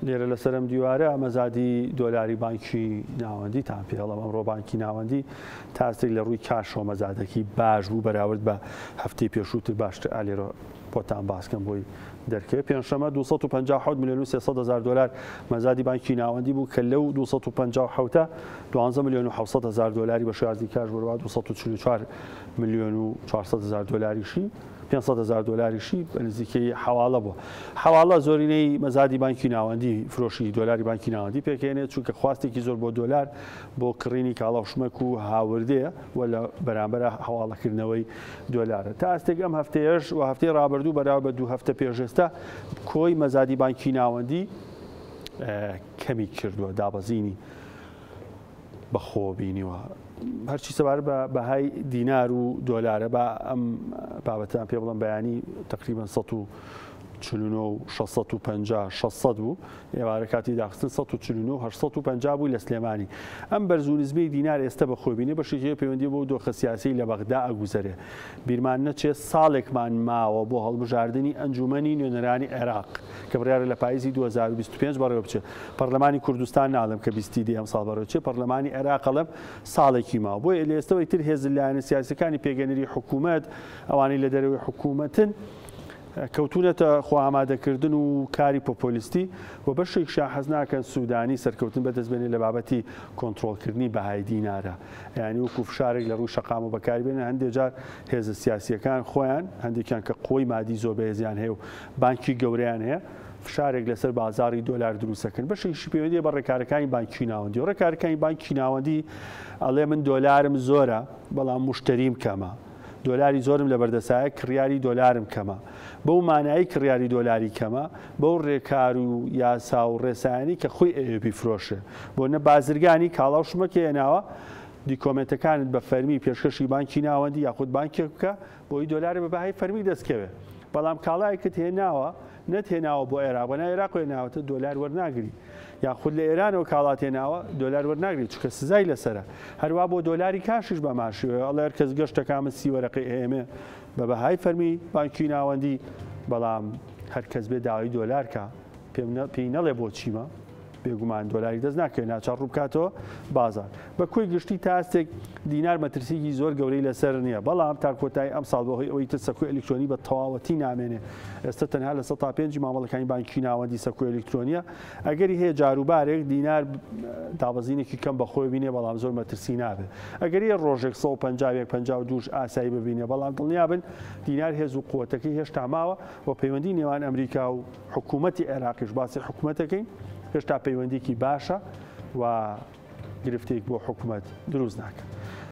لێرە لەسەر ئەم دیوارە مەزادی دۆلاری بانکی ناوەندیتان پێڵم. ئەمڕۆ بانکی ناوەندی تاستێک لە ڕووی کاشەوە مەزادەکی باش بوو بەراورد بە هەفتەی پێشووتر باشتر. ئالێرە بۆتان باسکەم بۆی دەرکەوێت. پێنجشەمە 257 ملیۆن و 300 هەزار دۆلار مەزادی بانکی ناوەندی بوو کە لەو 257 12 ملیۆن و 700 هەزار دۆلاری بە شێوازی کاش بڕوا، 244 ملیۆن و 400 هەزار دۆلاریشی 500 هەزار دۆلاریشی بە نزیکەی حەواڵە بووە. حەواڵە زۆرینەی مەزادی بانکی ناوەندی فرۆشی دۆلاری بانکی ناوەندی پێکهێنێت، چونکە خواستێکی زۆر بۆ دۆلار بۆ کڕینی کاڵا و شمەک و هاوردەیە و لە بەرامبەرە حەواڵەکردنەوەی دۆلارە. تا ئاستێک ئەم هەفتەیەش و هەفتەی ڕابردوو بەراورد بە دوو هەفتە پێش ئێستا کۆی مەزادی بانکی ناوەندی کەمی کردووە، دابەزینی بەخۆوە بینیوە. هەرچی سەبارەت بە بەهای دینار و دۆلارە با ئەم بابەتان پێ بڵم. بەیانی تقریبا 149 و 650 600 بوو، ئێوارە کاتی داخستن 149 850 بوو لە سلێمانی. ئەم بەرز و نزمی دینار ئێستا بەخۆی بینێ بەشێکی پەیوەندی بۆ دۆخە سیاسی لە بەغدا ئەگوزەرێ. بیرمان نەچێت ساڵێکمان ماوە بۆ هەڵبژاردنی ئەنجومەنی نوێنەرانی عێراق کە بڕیارە لە پاییزی 2025 بەڕێوە بچێت. پەرلەمانی کوردستان ناڵێم کە 20 دی ئەم ساڵ بەڕێوە بچێت، پەرلەمانی عێراق ئەڵێم ساڵێکی ماوە. بۆیە لە ئێستەوەی تر هێز لایەنە سیاسیەکانی پێگەنەری حکوومەت، ئەوانەی لە دەرەوەی حکوومەتن، کەوتونەتە خۆ ئامادەکردن و کاری پۆپۆلیستی و بەشێکشیان حەز ناکەن سوودانی سەرکەوتن بەدەست بێنێ لە بابەتی کۆنترۆڵکردنی بەهای دینارە، یعنی وەکو فشارێک لە ڕووی شەقام و بەکاری بێنن. هەندێک جار هێزە سیاسیەکان خۆیان، هەندێکیان کە قوەی مادی زۆر بەهێزیان هەیە و بانکی گەورەیان هەیە، فشارێک لەسەر بازاڕی دۆلار دروستەکەن. بەشێکیشی پەیوەندیە بە ڕێکارەکانی بانکی ناوەندی و ڕێکارەکانی بانکی ناوەندی ئەڵێ من دۆلارم زۆرە بەڵام مشتەریم کەمە، دۆلاری زۆرم لەبەردەسایە کڕیاری دۆلارم کەمە. بەو مانایی کڕیاری دۆلاری کەمە بەو ڕێکار و یاسا و ڕێسایانی کە خۆی ئەوێ بیفرۆشێ. بۆ نە بازرگانی کاڵا و شمەکێ هێناوە، دیکۆمێنتەکانت بە فەرمی پێشکەشی بانکی ناوەندی یاخود بانکێک بکە بۆی دۆلاری بە بەهای فەرمی دەستکەوێ. بەڵام کاڵایەکت هێناوە، نەتهێناوە بۆ عێراق، بەناو عێراق هێناوەتە، دۆلار وەرناگری. یاخود لە ئێرانەوە کاڵات هێناوە دۆلار وەرناگری چونکە سزای لەسەرە. هەروا بۆ دۆلاری کاشیش بە ماشیوە، ئەڵێ هەر کەس گەشتەکە من 30 وەرەقەی ئەیەمێ بە بەهای فەرمی بانکی ناوەندی، بەڵام هەر کەس بێ داوای دۆلار کا پێی نەڵێ بۆ چیمە، بێگومان دۆلاری دەست ناکەوێت، ناچار ڕوو بکاتەوە بازار. بە کۆی گشتی تا ئاستێک دینار مەترسیکی زۆر گەورەی لەسەر نییە، بەڵام تا کۆتایی ئەم ساڵ بەهۆی ئەوەی تر سەکۆی ئەلیکترۆنی بە تەواوەتی نامێنێ، ئێستا تەنها 5% مامەڵەکانی بانکی ناوەندی سەکۆی ئەلیکترۆنیە، ئەگەری هەیە جاروبارێک دینار دابەزینێکی کەم بەخۆی بینێ، بەڵام زۆر مەترسی نابێت. ئەگەری ڕۆژێک 151 52 ئاسایی ببینێ، بەڵام دڵنیابن دینار هێز و قوتەکەی هێشتا ماوە و پەیوەندی نێوان ئەمریکا و حکوومەتی عێراقیش، باسی حکوومەتەکەین، هێشتا پەیوەندیکی باشە و گرفتێک بۆ حکوومەت دروست ناکە.